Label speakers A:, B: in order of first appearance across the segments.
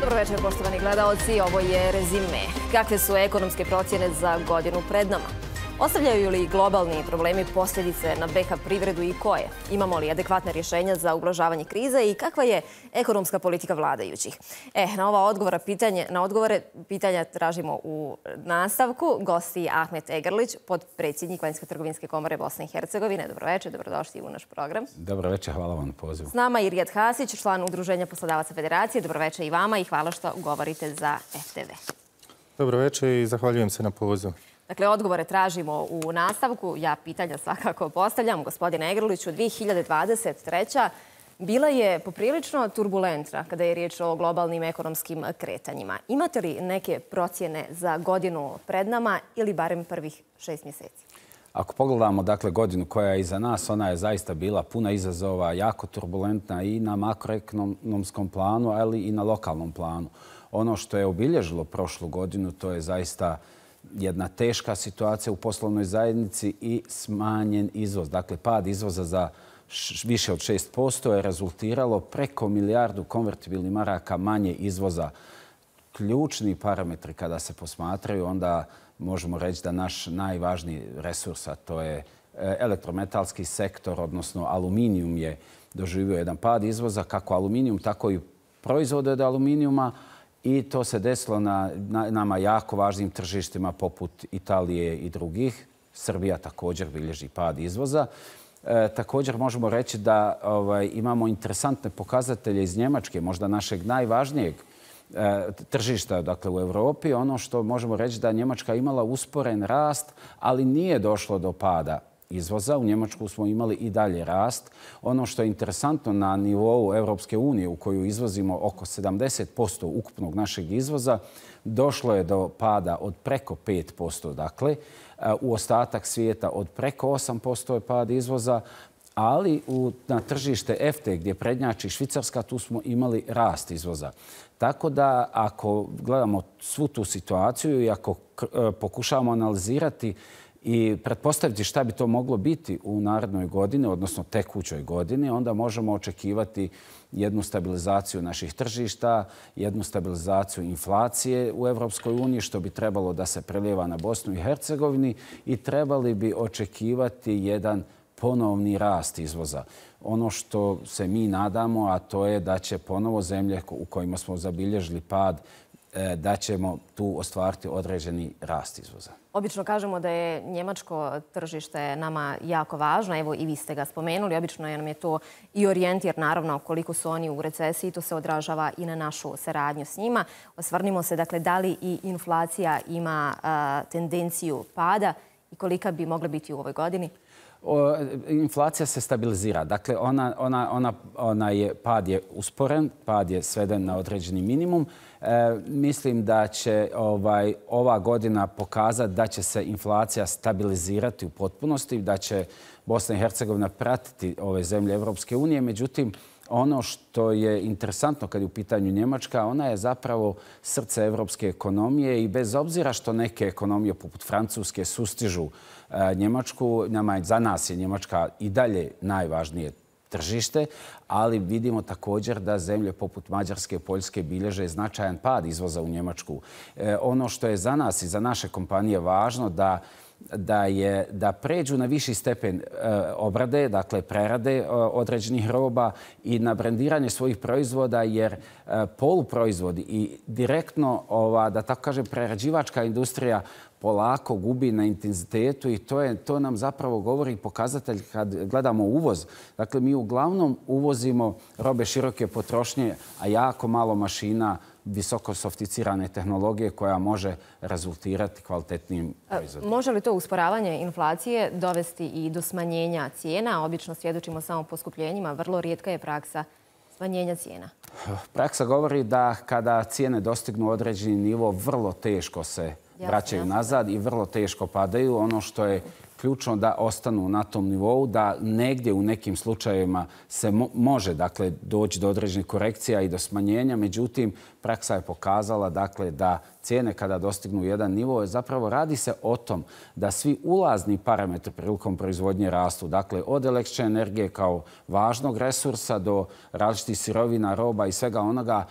A: Dobro večer, poštovani gledaoci. Ovo je rezime. Kakve su ekonomske procjene za godinu pred nama? Ostavljaju li globalni problemi posljedice na BiH privredu i koje? Imamo li adekvatne rješenja za ublažavanje krize i kakva je ekonomska politika vladajućih? Na odgovore pitanja tražimo u nastavku. Gosti Ahmet Egrlić, podpredsjednik Vanjsko-trgovinske komore Bosne i Hercegovine. Dobro večer, dobrodošli u naš program.
B: Dobro večer, hvala vam na pozivu.
A: S nama i Rijad Hasić, član Udruženja poslodavaca Federacije. Dobro večer i vama i hvala što govorite za FTV.
C: Dobro večer i zahvaljujem se na pozivu.
A: Dakle, odgovore tražimo u nastavku. Ja pitanja svakako postavljam. Gospodine Egrliću, 2023. bila je poprilično turbulentna kada je riječ o globalnim ekonomskim kretanjima. Imate li neke procjene za godinu pred nama ili barem prvih 6 mjeseci?
B: Ako pogledamo godinu koja je iza nas, ona je zaista bila puna izazova, jako turbulentna i na makroekonomskom planu, ali i na lokalnom planu. Ono što je obilježilo prošlu godinu, to je zaista jedna teška situacija u poslovnoj zajednici i smanjen izvoz. Dakle, pad izvoza za više od 6% je rezultiralo preko milijardu konvertibilnih maraka manje izvoza. Ključni parametri kada se posmatraju, onda možemo reći da naš najvažniji resurs, a to je elektrometalski sektor, odnosno aluminijum, je doživio jedan pad izvoza, kako aluminijum, tako i proizvode od aluminijuma. I to se desilo na nama jako važnim tržištima poput Italije i drugih. Srbija također bilježi pad izvoza. Također možemo reći da imamo interesantne pokazatelje iz Njemačke, možda našeg najvažnijeg tržišta u Evropi. Ono što možemo reći da Njemačka imala usporen rast, ali nije došlo do pada izvoza. U Njemačku smo imali i dalje rast. Ono što je interesantno na nivou Europske unije, u koju izvozimo oko 70% ukupnog našeg izvoza, došlo je do pada od preko 5%. Dakle, u ostatak svijeta od preko 8% je pad izvoza, ali na tržište EFTA gdje prednjači Švicarska, tu smo imali rast izvoza. Tako da ako gledamo svu tu situaciju i ako pokušavamo analizirati i pretpostaviti šta bi to moglo biti u narednoj godini, odnosno tekućoj godini, onda možemo očekivati jednu stabilizaciju naših tržišta, jednu stabilizaciju inflacije u Evropskoj uniji, što bi trebalo da se prelijeva na Bosnu i Hercegovini, i trebali bi očekivati jedan ponovni rast izvoza. Ono što se mi nadamo, a to je da će ponovo zemlje u kojima smo zabilježili pad, da ćemo tu ostvariti određeni rast izvoza.
A: Obično kažemo da je njemačko tržište nama jako važno. Evo i vi ste ga spomenuli. Obično nam je to i orijentir, naravno, koliko su oni u recesiji. To se odražava i na našu saradnju s njima. Osvrnimo se, dakle, da li i inflacija ima tendenciju pada i kolika bi mogla biti u ovoj godini?
B: Inflacija se stabilizira. Dakle, pad je usporen, pad je sveden na određeni minimum. Mislim da će ova godina pokazati da će se inflacija stabilizirati u potpunosti, da će Bosna i Hercegovina pratiti ove zemlje Evropske unije. Međutim, ono što je interesantno kad je u pitanju Njemačka, ona je zapravo srce evropske ekonomije i bez obzira što neke ekonomije poput Francuske sustižu Njemačku, za nas je Njemačka i dalje najvažnije tržište, ali vidimo također da zemlje poput Mađarske i Poljske bilježe značajan pad izvoza u Njemačku. Ono što je za nas i za naše kompanije važno da pređu na viši stepen obrade, dakle prerade određenih roba i na brendiranje svojih proizvoda, jer poluproizvodi i direktno, da tako kažem, prerađivačka industrija polako gubi na intenzitetu i to nam zapravo govori pokazatelj kad gledamo uvoz. Dakle, mi uglavnom uvozimo robe široke potrošnje, a jako malo mašina, visoko sofisticirane tehnologije koja može rezultirati kvalitetnim proizvodima.
A: Može li to usporavanje inflacije dovesti i do smanjenja cijena? Obično svjedočimo samo poskupljenjima. Vrlo rijetka je praksa smanjenja cijena.
B: Praksa govori da kada cijene dostignu određeni nivo, vrlo teško se vraćaju nazad i vrlo teško padaju. Ono što je ključno da ostanu na tom nivou, da negdje u nekim slučajevima se može doći do određenih korekcija i do smanjenja. Međutim, praksa je pokazala da cijene kada dostignu jedan nivo, zapravo radi se o tom da svi ulazni parametri prilikom proizvodnje rastu. Dakle, od električne energije kao važnog resursa do različitih sirovina, roba i svega onoga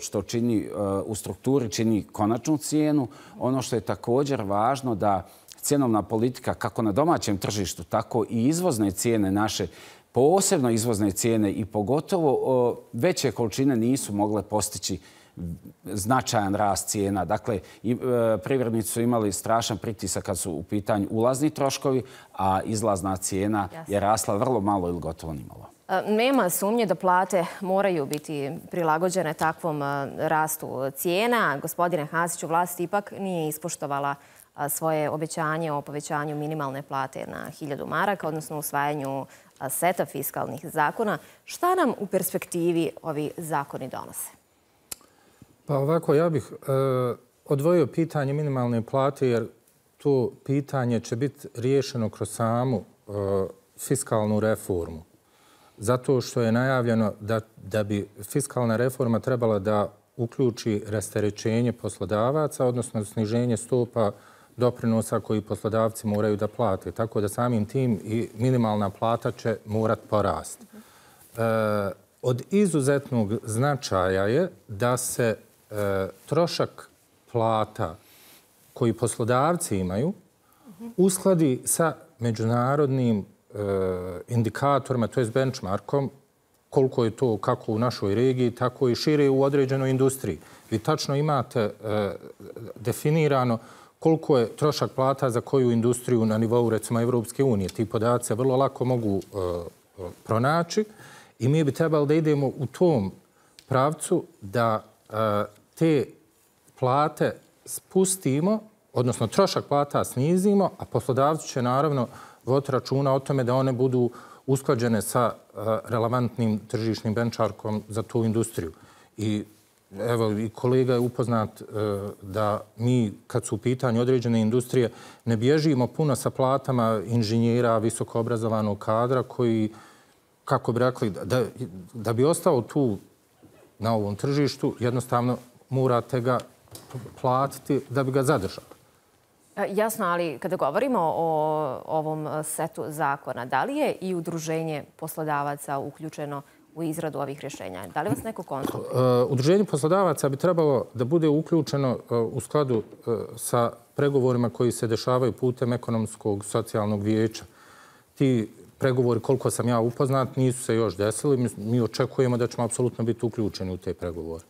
B: što čini u strukturi, čini konačnu cijenu. Ono što je također važno da cjenovna politika kako na domaćem tržištu, tako i izvozne cijene naše, posebno izvozne cijene i pogotovo veće količine nisu mogle postići značajan rast cijena. Dakle, privrednici su imali strašan pritisak kad su u pitanju ulazni troškovi, a izlazna cijena je rasla vrlo malo ili gotovo nimalo.
A: Nema sumnje da plate moraju biti prilagođene takvom rastu cijena. Gospodine Hasiću, vlast ipak nije ispoštovala svoje obećanje o povećanju minimalne plate na 1000 maraka, odnosno usvajanju seta fiskalnih zakona. Šta nam u perspektivi ovi zakoni donose?
C: Pa ovako, ja bih odvojio pitanje minimalne plate, jer to pitanje će biti riješeno kroz samu fiskalnu reformu. Zato što je najavljeno da bi fiskalna reforma trebala da uključi rasterećenje poslodavaca, odnosno sniženje stopa doprinosa koji poslodavci moraju da plate. Tako da samim tim i minimalna plata će morati porasti. Od izuzetnog značaja je da se trošak plata koji poslodavci imaju uskladi sa međunarodnim indikatorima, to je benchmarkom, koliko je to kako u našoj regiji, tako i šire u određenoj industriji. Vi tačno imate definirano koliko je trošak plata za koju industriju na nivou, recimo, Evropske unije. Ti podaci se vrlo lako mogu pronaći i mi bi trebali da idemo u tom pravcu da te plate spustimo, odnosno trošak plata snizimo, a poslodavci će naravno voditi računa o tome da one budu usklađene sa relevantnim tržišnim benchmarkom za tu industriju. I evo, i kolega je upoznat da mi, kad su u pitanju određene industrije, ne bježimo puno sa platama inženjera, visoko obrazovanog kadra koji, kako bi rekli, da bi ostao tu na ovom tržištu, jednostavno morate ga platiti da bi ga zadržali.
A: Jasno, ali kada govorimo o ovom setu zakona, da li je i udruženje poslodavaca uključeno u izradu ovih rješenja? Da li vas neko konsultuje?
C: Udruženje poslodavaca bi trebalo da bude uključeno u skladu sa pregovorima koji se dešavaju putem ekonomskog socijalnog vijeća. Ti pregovori, koliko sam ja upoznat, nisu se još desili. Mi očekujemo da ćemo apsolutno biti uključeni u te pregovore.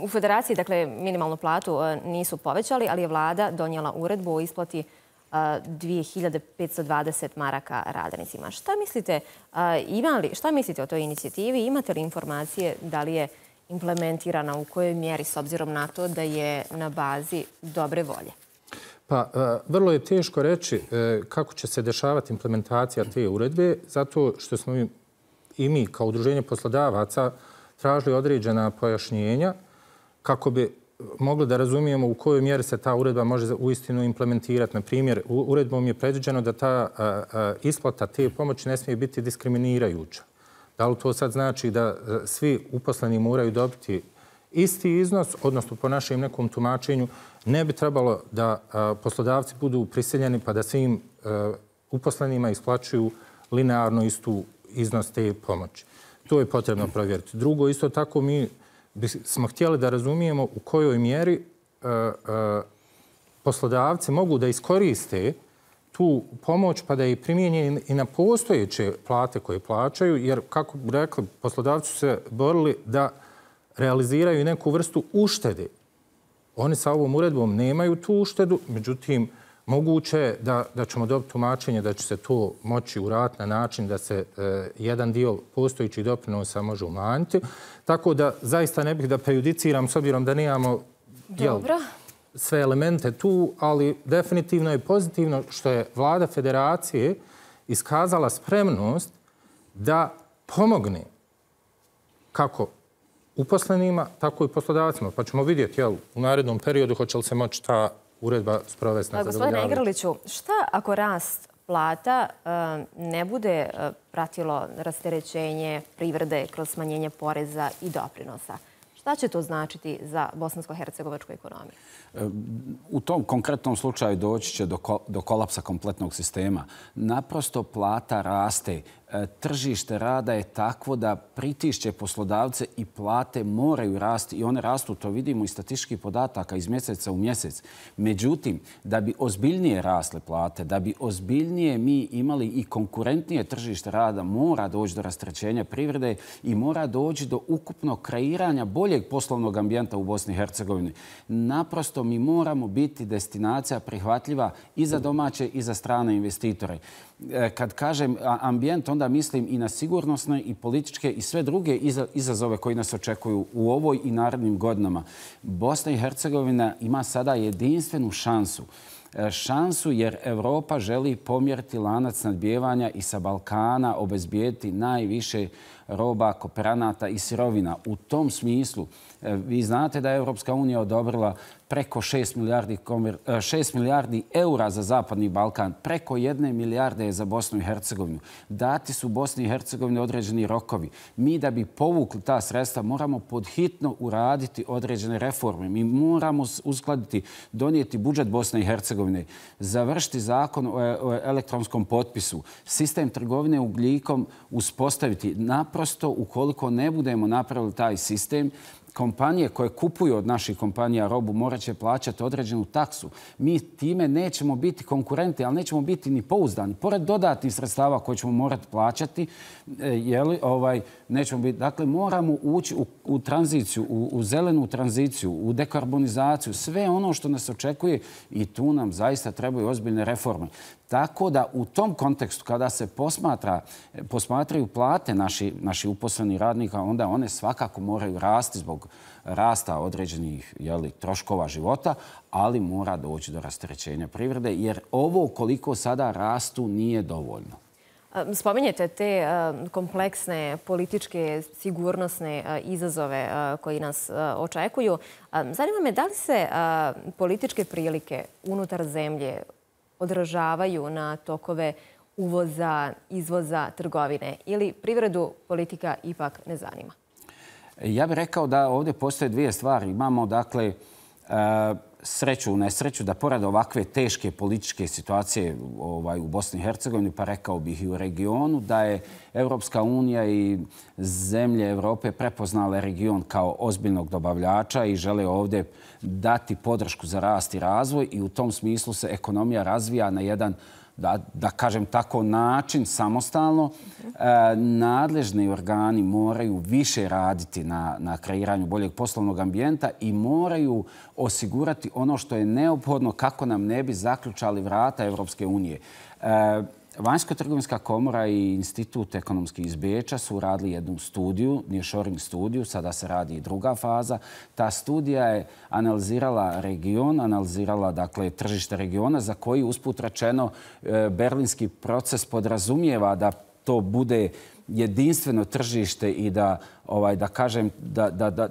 A: U Federaciji, dakle, minimalnu platu nisu povećali, ali je vlada donijela uredbu o isplati 2520 maraka radnicima. Šta mislite o toj inicijativi? Imate li informacije da li je implementirana, u kojoj mjeri, s obzirom na to da je na bazi dobre volje?
C: Pa, vrlo je teško reći kako će se dešavati implementacija te uredbe, zato što smo i mi kao udruženje poslodavaca tražili određena pojašnjenja kako bi mogli da razumijemo u kojoj mjeri se ta uredba može uistinu implementirati. Na primjer, uredbom je predviđeno da ta isplata te pomoći ne smije biti diskriminirajuća. Da li to sad znači da svi uposleni moraju dobiti isti iznos, odnosno po našem nekom tumačenju ne bi trebalo da poslodavci budu prisiljeni pa da svim uposlenima isplaćuju linearno istu iznos te pomoći. To je potrebno provjeriti. Drugo, isto tako mi smo htjeli da razumijemo u kojoj mjeri poslodavci mogu da iskoriste tu pomoć pa da je primjenje i na postojeće plate koje plaćaju, jer, kako bi rekli, poslodavci su se borili da realiziraju neku vrstu uštede. Oni sa ovom uredbom nemaju tu uštedu, međutim, moguće je da ćemo dobiti tumačenje da će se to moći uraditi na način da se jedan dio postojećih doprinosa može umanjiti. Tako da zaista ne bih da prejudiciram s obzirom da nemamo sve elemente tu, ali definitivno je pozitivno što je vlada federacije iskazala spremnost da pomogne kako uposlenima, tako i poslodavcima. Pa ćemo vidjeti u narednom periodu hoće li se moći ta uredba sprovesti na zadovoljavajući.
A: Gospodine Igrliću, šta ako rast plata ne bude pratilo rasterećenje privrede kroz smanjenje poreza i doprinosa. Šta će to značiti za bosansko-hercegovačku ekonomiju?
B: U tom konkretnom slučaju doći će do kolapsa kompletnog sistema. Naprosto plata raste. Tržište rada je takvo da pritišće poslodavce i plate moraju rasti i one rastu, to vidimo iz statističkih podataka iz mjeseca u mjesec. Međutim, da bi ozbiljnije rasle plate, da bi ozbiljnije mi imali i konkurentnije tržište rada, mora doći do rasterećenja privrede i mora doći do ukupnog kreiranja boljeg poslovnog ambijenta u Bosni i Hercegovini. Naprosto mi moramo biti destinacija prihvatljiva i za domaće i za strane investitore. Kad kažem ambijent, onda mislim i na sigurnosne i političke i sve druge izazove koji nas očekuju u ovoj i narednim godinama. Bosna i Hercegovina ima sada jedinstvenu šansu jer Evropa želi pomjeriti lanac snabdijevanja i sa Balkana obezbijediti najviše roba, kooperanata i sirovina. U tom smislu, vi znate da je Evropska unija odobrila preko 6 milijardi eura za Zapadni Balkan, preko 1 milijarde je za Bosnu i Hercegovinu. Dati su Bosni i Hercegovini određeni rokovi. Mi da bi povukli ta sredstva moramo podhitno uraditi određene reforme. Mi moramo uskladiti, donijeti budžet Bosne i Hercegovine, završiti zakon o elektronskom potpisu, sistem trgovine ugljikom uspostaviti. Naprosto, ukoliko ne budemo napravili taj sistem, kompanije koje kupuju od naših kompanija robu morat će plaćati određenu taksu. Mi time nećemo biti konkurenti, ali nećemo biti ni pouzdani. Pored dodatnih sredstava koje ćemo morati plaćati, nećemo biti. Dakle, moramo ući u tranziciju, u zelenu tranziciju, u dekarbonizaciju, sve ono što nas očekuje i tu nam zaista trebaju ozbiljne reforme. Tako da u tom kontekstu, kada se posmatraju plate naših uposlenih radnika, onda one svakako moraju rasti zbog rasta određenih troškova života, ali mora doći do rasterećenja privrede, jer ovo koliko sada rastu nije dovoljno.
A: Spominjete te kompleksne političke, sigurnosne izazove koji nas očekuju. Zanima me da li se političke prilike unutar zemlje odražavaju na tokove uvoza, izvoza, trgovine ili privredu politika ipak ne zanima?
B: Ja bih rekao da ovdje postoje dvije stvari. Imamo, dakle, sreću u nesreću da pored ovakve teške političke situacije u Bosni i Hercegovini, pa rekao bih i u regionu, da je Evropska unija i zemlje Evrope prepoznale region kao ozbiljnog dobavljača i žele ovdje dati podršku za rast i razvoj i u tom smislu se ekonomija razvija na jedan, da kažem tako, način samostalno. Nadležni organi moraju više raditi na kreiranju boljeg poslovnog ambijenta i moraju osigurati ono što je neophodno kako nam ne bi zaključali vrata Evropske unije. Vanjsko-trgovinska komora i Institut ekonomski iz Beča su radili jednu studiju, nearshoring studiju, sada se radi i druga faza. Ta studija je analizirala region, analizirala dakle tržište regiona za koji usput rečeno berlinski proces podrazumijeva da to bude jedinstveno tržište i da kažem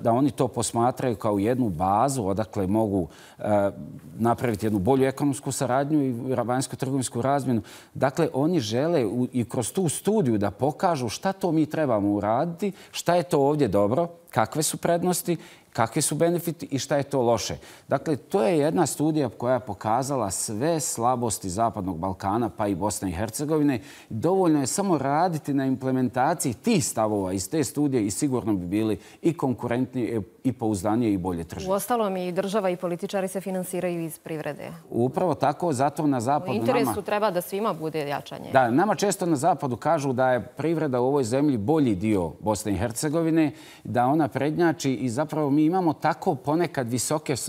B: da oni to posmatraju kao jednu bazu odakle mogu napraviti jednu bolju ekonomsku saradnju i vanjsko-trgovinsku razmjenu. Dakle, oni žele i kroz tu studiju da pokažu šta to mi trebamo uraditi, šta je to ovdje dobro, kakve su prednosti, kakvi su benefiti i šta je to loše. Dakle, to je jedna studija koja je pokazala sve slabosti Zapadnog Balkana, pa i Bosne i Hercegovine. Dovoljno je samo raditi na implementaciji tih stavova iz te studije i sigurno bi bili i konkurentniji i pouzdanije i bolje tržište.
A: Uostalom i država i političari se finansiraju iz privrede.
B: Upravo tako, zato na zapadu
A: u interesu treba da svima bude jačanje.
B: Da, nama često na zapadu kažu da je privreda u ovoj zemlji bolji dio Bosne i Hercegovine, da ona prednjači i zapravo mi imamo tako ponekad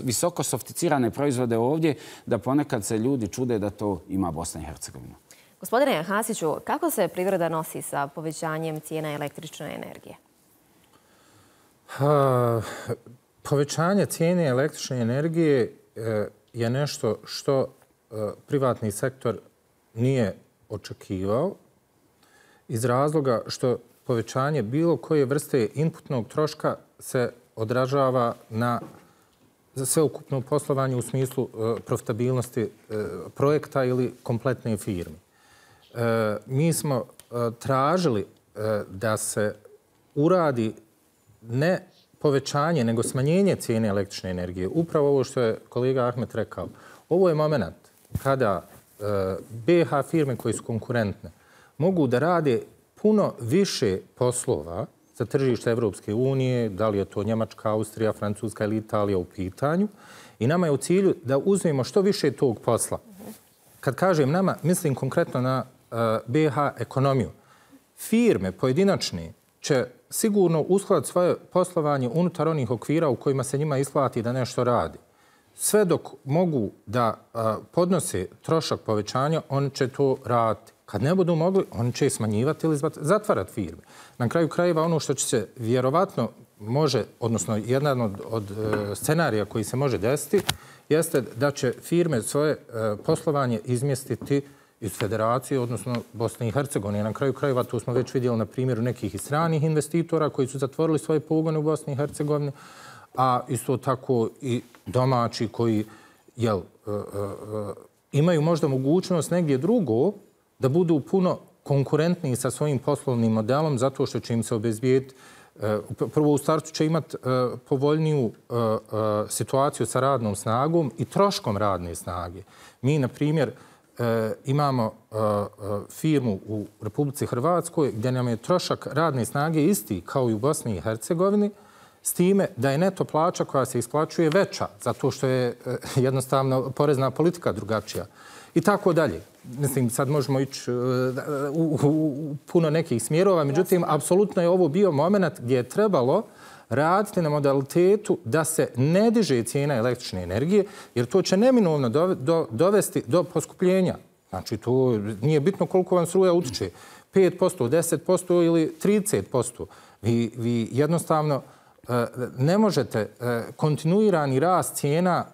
B: visoko sofisticirane proizvode ovdje da ponekad se ljudi čude da to ima Bosna i Hercegovina.
A: Gospodine Hasiću, kako se privreda nosi sa povećanjem cijena električne energije?
C: Povećanje cijene električne energije je nešto što privatni sektor nije očekivao iz razloga što povećanje bilo koje vrste inputnog troška se odražava na sveukupno poslovanje u smislu profitabilnosti projekta ili kompletne firme. mi smo tražili da se uradi ne povećanje, nego smanjenje cijene električne energije. Upravo ovo što je kolega Ahmet rekao. Ovo je moment kada BiH firme koje su konkurentne mogu da rade puno više poslova za tržište Evropske unije, da li je to Njemačka, Austrija, Francuska ili Italija u pitanju. I nama je u cilju da uzmemo što više tog posla. Kad kažem nama, mislim konkretno na BiH ekonomiju. Firme pojedinačne će sigurno uskladiti svoje poslovanje unutar onih okvira u kojima se njima isplati da nešto radi. Sve dok mogu da podnose trošak povećanja, oni će to raditi. Kad ne budu mogli, oni će smanjivati ili zatvarati firme. Na kraju krajeva ono što će se vjerovatno može, odnosno jedan od scenarija koji se može desiti, jeste da će firme svoje poslovanje izmjestiti iz Federacije, odnosno Bosne i Hercegovine. Na kraju krajeva to smo već vidjeli na primjeru nekih i stranih investitora koji su zatvorili svoje pogone u Bosni i Hercegovini, a isto tako i domaći koji imaju možda mogućnost negdje drugo da budu puno konkurentniji sa svojim poslovnim modelom zato što će im se obezbijediti. Prvo u startu će imati povoljniju situaciju sa radnom snagom i troškom radne snage. Mi, na primjer, imamo firmu u Republici Hrvatskoj gdje nam je trošak radne snage isti kao i u Bosni i Hercegovini, s time da je neto plaća koja se isplaćuje veća, zato što je jednostavno porezna politika drugačija. I tako dalje. Mislim, sad možemo ići u puno nekih smjerova, međutim, apsolutno je ovo bio moment gdje je trebalo raditi na modalitetu da se ne diže cijena električne energije, jer to će neminovno dovesti do poskupljenja. Znači, to nije bitno koliko vam struja utiče. 5%, 10% ili 30%. Vi jednostavno ne možete kontinuirani rast cijena,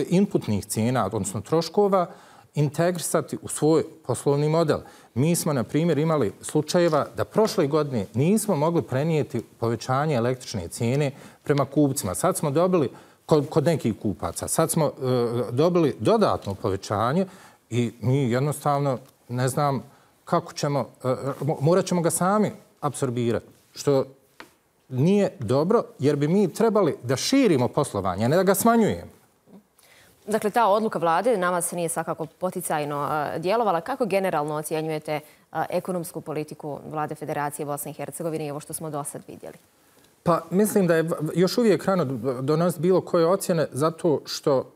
C: inputnih cijena, odnosno troškova, integrisati u svoj poslovni model. Mi smo, na primjer, imali slučajeva da prošle godine nismo mogli prenijeti povećanje električne cijene prema kupcima. Sad smo dobili, kod nekih kupaca, sad smo dobili dodatno povećanje i mi jednostavno ne znam kako ćemo, morat ćemo ga sami apsorbirati, što nije dobro jer bi mi trebali da širimo poslovanje, a ne da ga smanjujemo.
A: Dakle, ta odluka vlade na vas nije svakako poticajno djelovala. Kako generalno ocjenjujete ekonomsku politiku vlade Federacije Bosne i Hercegovine i ovo što smo do sad vidjeli?
C: Pa mislim da je još uvijek rano donositi bilo koje ocjene zato što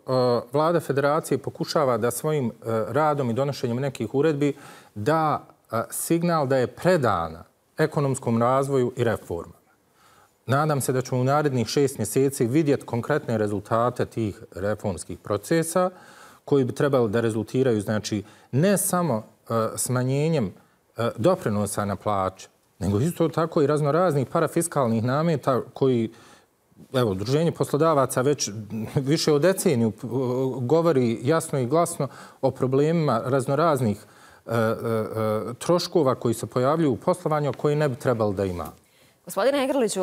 C: vlada Federacije pokušava da svojim radom i donošenjem nekih uredbi da signal da je predana ekonomskom razvoju i reformama. Nadam se da ćemo u narednih 6 mjeseci vidjeti konkretne rezultate tih reformskih procesa koji bi trebali da rezultiraju, znači, ne samo smanjenjem doprinosa na plaće, nego isto tako i raznoraznih parafiskalnih nameta koji, evo, Udruženje poslodavaca već više od deceniju govori jasno i glasno o problemima raznoraznih troškova koji se pojavljuju u poslovanju koji ne bi trebali da ima.
A: Gospodine Egrliću,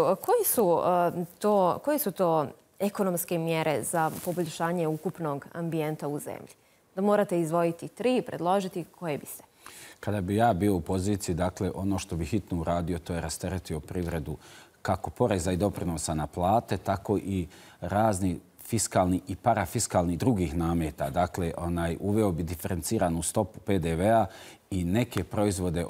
A: koji su to ekonomske mjere za poboljšanje ukupnog ambijenta u zemlji? Da morate izdvojiti 3, predložiti, koje biste?
B: Kada bi ja bio u poziciji, dakle, ono što bi hitno uradio, to je rasteretio privredu kako poreza i doprinosa na plate, tako i razni fiskalni i parafiskalni drugih nameta. Dakle, uveo bi diferenciranu stopu PDV-a i neke proizvode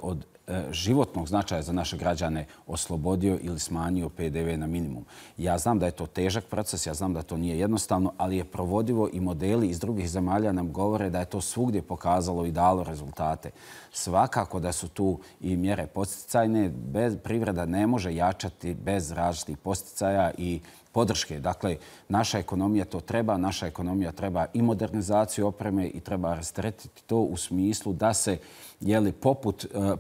B: od životnog značaja za naše građane oslobodio ili smanjio PDV na minimum. Ja znam da je to težak proces, ja znam da to nije jednostavno, ali je provodivo i modeli iz drugih zemalja nam govore da je to svugdje pokazalo i dalo rezultate. Svakako da su tu i mjere podsticajne. Privreda ne može jačati bez različitih podsticaja i podrške. Dakle, naša ekonomija to treba, naša ekonomija treba i modernizaciju opreme i treba rasteretiti to u smislu da se,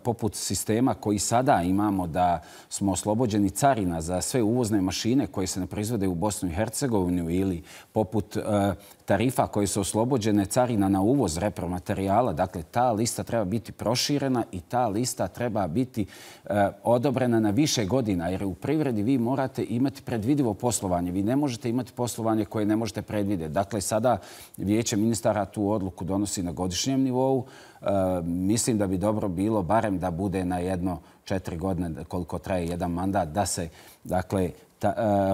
B: poput sistema koji sada imamo, da smo oslobođeni carina za sve uvozne mašine koje se ne proizvode u Bosnu i Hercegovinu ili poput tarifa koje su oslobođene carina na uvoz repromaterijala. Dakle, ta lista treba biti proširena i ta lista treba biti odobrena na više godina, jer u privredi vi morate imati predvidivo poslovanje. poslovanje. Vi ne možete imati poslovanje koje ne možete predvidjeti. Dakle, sada Vijeće ministara tu odluku donosi na godišnjem nivou. Mislim da bi dobro bilo barem da bude na 4 godine koliko traje jedan mandat, da se, dakle,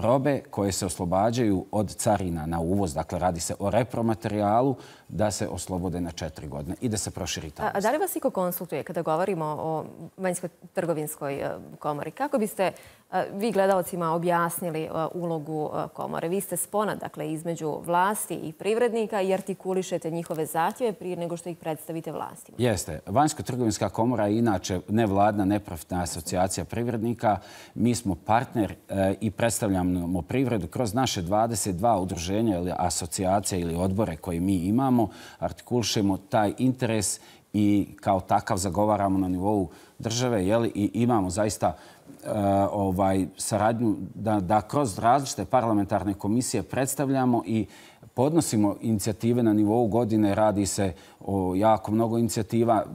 B: robe koje se oslobađaju od carina na uvoz, dakle radi se o repromaterijalu, da se oslobode na 4 godine i da se proširi ta.
A: A da li vas iko konsultuje kada govorimo o vanjskoj trgovinskoj komori? Kako biste vi gledalcima objasnili ulogu komore? Vi ste spona, dakle, između vlasti i privrednika i artikulišete njihove zahtjeve prije nego što ih predstavite vlastima.
B: Jeste. Vanjska trgovinska komora je inače nevladna, neprofitna asocijacija privrednika. Mi smo partner i predstavljamo privredu kroz naše 22 udruženja ili asocijacije ili odbore koje mi imamo. Artikulišemo taj interes i kao takav zagovaramo na nivou države i imamo zaista saradnju da kroz različite parlamentarne komisije predstavljamo i podnosimo inicijative na nivou godine. Radi se o jako mnogo inicijativa.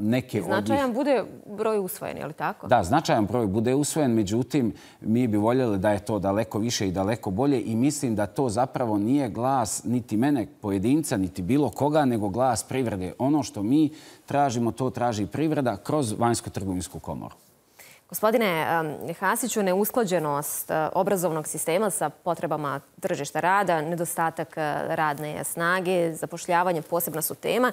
A: Značajan bude broj usvojen, je li tako?
B: Da, značajan broj bude usvojen. Međutim, mi bi voljeli da je to daleko više i daleko bolje i mislim da to zapravo nije glas niti mene pojedinca, niti bilo koga, nego glas privrede. Ono što mi tražimo, to traži privreda kroz vanjsku trgovinsku komoru.
A: Gospodine Hasiću, neusklađenost obrazovnog sistema sa potrebama tržišta rada, nedostatak radne snage, zapošljavanje posebna su tema.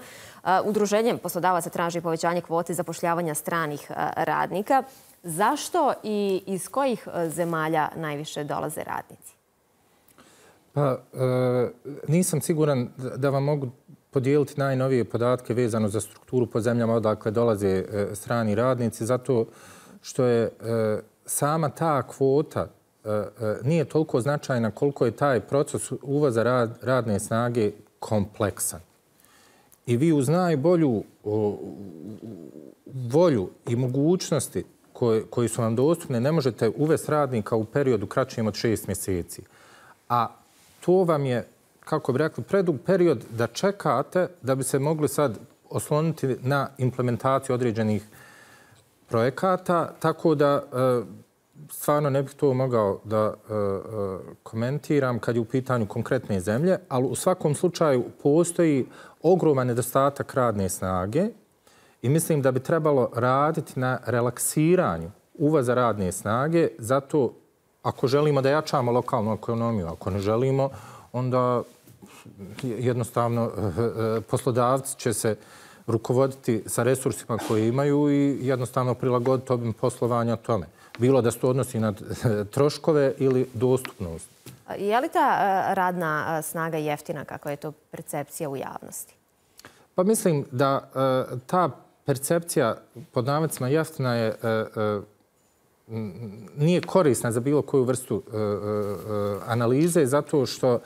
A: Udruženjem poslodavaca traži povećanje kvote zapošljavanja stranih radnika. Zašto i iz kojih zemalja najviše dolaze radnici?
C: Pa, nisam siguran da vam mogu podijeliti najnovije podatke vezano za strukturu po zemljama odakle dolaze strani radnici, zato što je sama ta kvota nije toliko značajna koliko je taj proces uvoza radne snage kompleksan. I vi uz najbolju volju i mogućnosti koji su vam dostupne ne možete uvesti radnika u periodu kraćem od 6 mjeseci. A to vam je, kako bi rekli, predug period da čekate da bi se mogli sad osloniti na implementaciju određenih projekata, tako da stvarno ne bih to mogao da komentiram kad je u pitanju konkretne zemlje, ali u svakom slučaju postoji ogroman nedostatak radne snage i mislim da bi trebalo raditi na relaksiranju uvoza radne snage, zato ako želimo da jačamo lokalnu ekonomiju, ako ne želimo, onda jednostavno poslodavci će se rukovoditi sa resursima koje imaju i jednostavno prilagoditi obim poslovanja tome. Bilo da se to odnosi na troškove ili dostupnost.
A: Je li ta radna snaga jeftina, kako je to percepcija u javnosti?
C: Pa mislim da ta percepcija pod navodnicima jeftina je nije korisna za bilo koju vrstu analize, zato što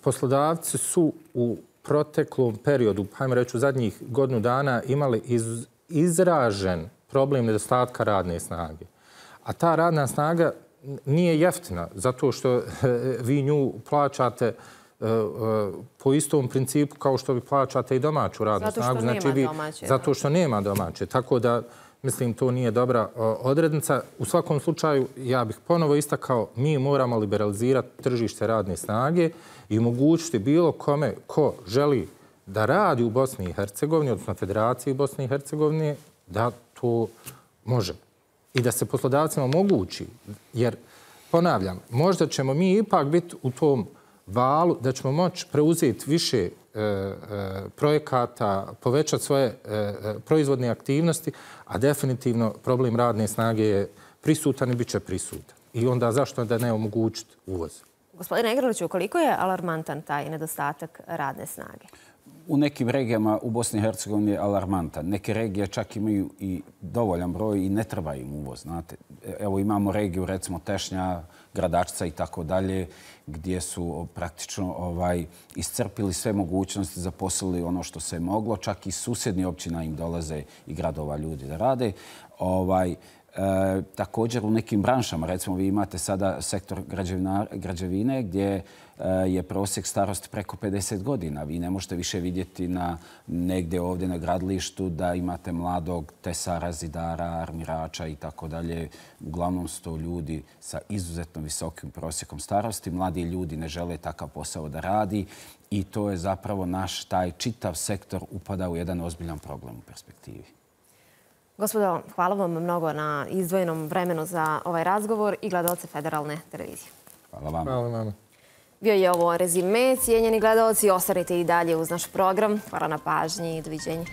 C: poslodavci su u proteklom periodu, hajmo reći u zadnjih godinu dana, imali izražen problem nedostatka radne snage. A ta radna snaga nije jeftina, zato što vi nju plaćate po istom principu kao što vi plaćate i domaću radnu snagu. Zato što nema domaće. Tako da, mislim, to nije dobra odrednica. U svakom slučaju, ja bih ponovo istakao, mi moramo liberalizirati tržište radne snage i omogućiti bilo kome ko želi da radi u Bosni i Hercegovini, odnosno Federaciji Bosne i Hercegovine, da to može. I da se poslodavcima omogući. Jer, ponavljam, možda ćemo mi ipak biti u tom valu da ćemo moći preuzeti više projekata, povećati svoje proizvodne aktivnosti, a definitivno problem radne snage je prisutan i bit će prisutan. I onda zašto da ne omogućiti uvoz?
A: Gospodine Egrliću, koliko je alarmantan taj nedostatak radne snage?
B: U nekim regijama u Bosni i Hercegovini je alarmantan. Neke regije čak imaju i dovoljan broj i ne treba im uvoz. Znate, evo imamo regiju, recimo Tešnja, Gradačca i tako dalje, gdje su praktično iscrpili sve mogućnosti, zaposlili ono što se moglo. Čak i susjedni općina im dolaze i gradova ljudi da rade. Također u nekim branšama, recimo vi imate sada sektor građevine gdje je prosjek starosti preko 50 godina. Vi ne možete više vidjeti negdje ovdje na gradilištu da imate mladog tesara, zidara, armirača i tako dalje. Uglavnom su to ljudi sa izuzetno visokim prosjekom starosti. Mladi ljudi ne žele takav posao da radi i to je zapravo naš taj čitav sektor upada u jedan ozbiljan problem u perspektivi.
A: Gospodo, hvala vam mnogo na izdvojenom vremenu za ovaj razgovor i gledalce Federalne televizije.
B: Hvala vam.
C: Hvala vam.
A: Bio je ovo rezime. Cijenjeni gledalci, ostanite i dalje uz naš program. Hvala na pažnji i doviđenja.